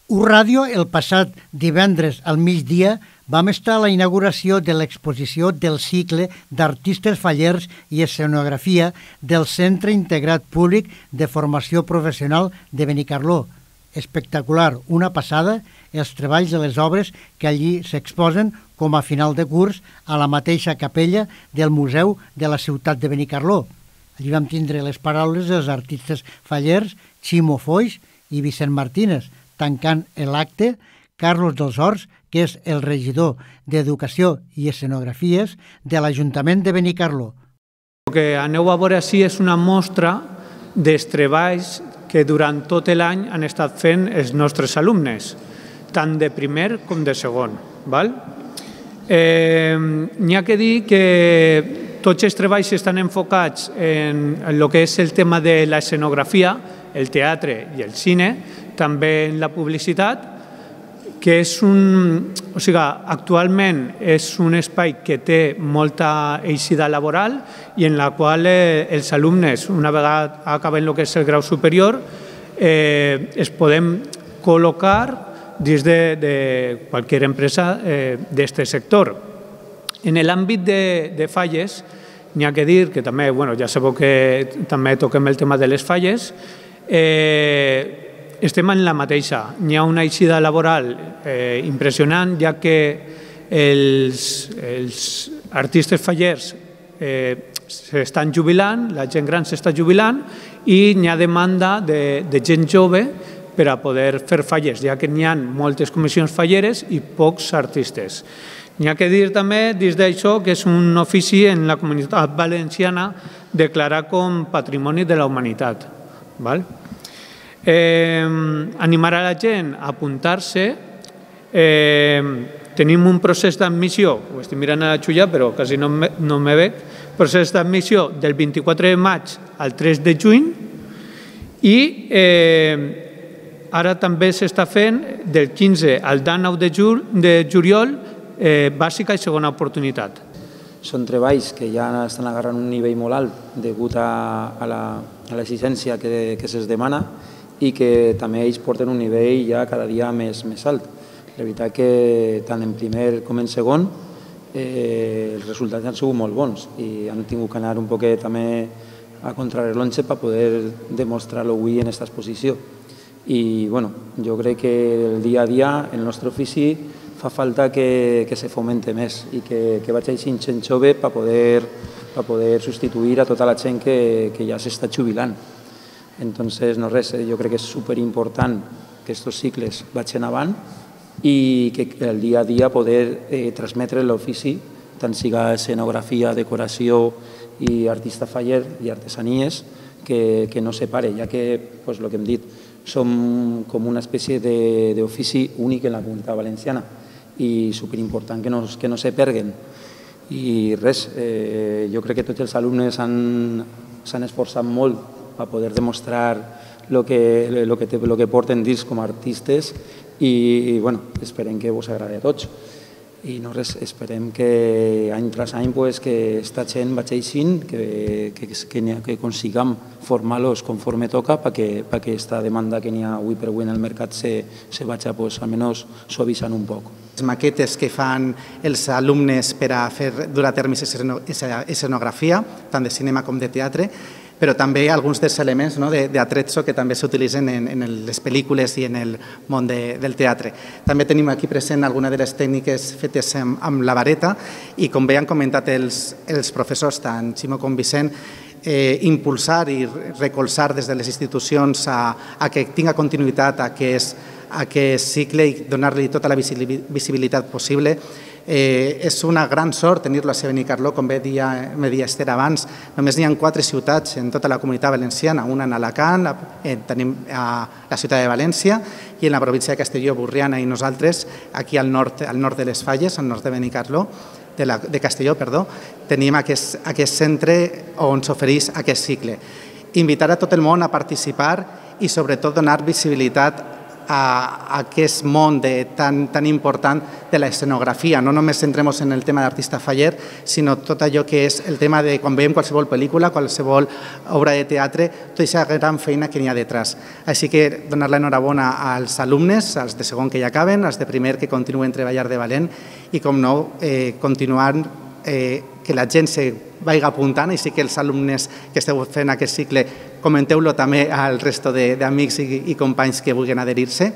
Ràdio, el passat divendres al migdia, vam estar a la inauguració de l'exposició del cicle d'artistes fallers i escenografia del Centre Integrat Públic de Formació Professional de Benicarló. Espectacular, una passada, els treballs de les obres que allí s'exposen com a final de curs a la mateixa capella del Museu de la Ciutat de Benicarló. Allí vam tindre les paraules dels artistes fallers Ximo Foix i Vicent Martínez, tancant l'acte Carlos dels Horts, que és el regidor d'Educació i Escenografies de l'Ajuntament de Benicarló. El que aneu a veure així és una mostra dels treballs que durant tot l'any han estat fent els nostres alumnes, tant de primer com de segon. N'hi ha que dir que tots els treballs estan enfocats en el que és el tema de l'escenografia, el teatre i el cine, també en la publicitat, que és actualment és un espai que té molta eixida laboral i en la qual els alumnes, una vegada acaben el que és el grau superior, es podem col·locar dins de qualsevol empresa d'aquest sector. En l'àmbit de falles, n'hi ha que dir que també, ja sabeu que també toquem el tema de les falles, estem en la mateixa. N'hi ha una eixida laboral impressionant, ja que els artistes fallers s'estan jubilant, la gent gran s'està jubilant i n'hi ha demanda de gent jove per a poder fer falles, ja que n'hi ha moltes comissions falleres i pocs artistes. N'hi ha que dir també, dins d'això, que és un ofici en la Comunitat Valenciana declarat com Patrimoni de la Humanitat. Animar a la gent a apuntar-se. Tenim un procés d'admissió, ho estic mirant a la Xulla però quasi no me veig, procés d'admissió del 24 de maig al 3 de juny i ara també s'està fent del 15 al 19 de juliol bàsica i segona oportunitat. Són treballs que ja estan agarrant un nivell molt alt degut a l'exigència que se'ls demana i que també ells porten un nivell ja cada dia més alt. La veritat que tant en primer com en segon els resultats han sigut molt bons i han tingut que anar un poquet també a contrarrellotge per poder demostrar-lo avui en aquesta exposició. I jo crec que el dia a dia el nostre ofici fa falta que se fomente més i que vagi així gent jove per poder substituir a tota la gent que ja s'està jubilant. Entonces, no res, jo crec que és superimportant que aquests cicles vagin avant i que el dia a dia poder transmetre l'ofici, tant siga escenografia, decoració i artista faller i artesanies, que no se pare, ja que, el que hem dit, som com una espècie d'ofici únic en la Comunitat Valenciana i superimportant que no se perguen. I res, jo crec que tots els alumnes s'han esforçat molt per poder demostrar el que porten dins com a artistes i esperem que us agradi a tots. I no res, esperem que any tras any que aquesta gent vagi aixint, que consigam formar-los conforme toca perquè aquesta demanda que n'hi ha avui per avui en el mercat se vagi almenys suavitzant un poc. Les maquetes que fan els alumnes per a fer dur a terme escenografia, tant de cinema com de teatre, però també alguns dels elements d'atrezzo que també s'utilitzen en les pel·lícules i en el món del teatre. També tenim aquí present alguna de les tècniques fetes amb la vareta i, com bé han comentat els professors, tant Ximo com Vicent, impulsar i recolzar des de les institucions a que tinga continuïtat aquest cicle i donar-li tota la visibilitat possible. És una gran sort tenir-lo a Benicarló, com bé deia Esther abans. Només n'hi ha 4 ciutats en tota la Comunitat Valenciana, una en Alacant, tenim a la ciutat de València i en la província de Castelló, Borriana i nosaltres, aquí al nord de les Falles, al nord de Benicarló, de Castelló, tenim aquest centre on s'ofereix aquest cicle. Invitar a tot el món a participar i sobretot donar visibilitat a aquest món tan important de l'escenografia. No només centrem-nos en el tema d'artista faller, sinó tot allò que és el tema de quan veiem qualsevol pel·lícula, qualsevol obra de teatre, tota aquesta gran feina que n'hi ha detrás. Així que donar l'enhorabona als alumnes, als de segon que ja acaben, als de primer que continuen treballant de valent i, com no, continuar que la gent se vagi apuntant, i sí que els alumnes que esteu fent aquest cicle comenteu-lo també al resto d'amics i companys que vulguin adherir-se.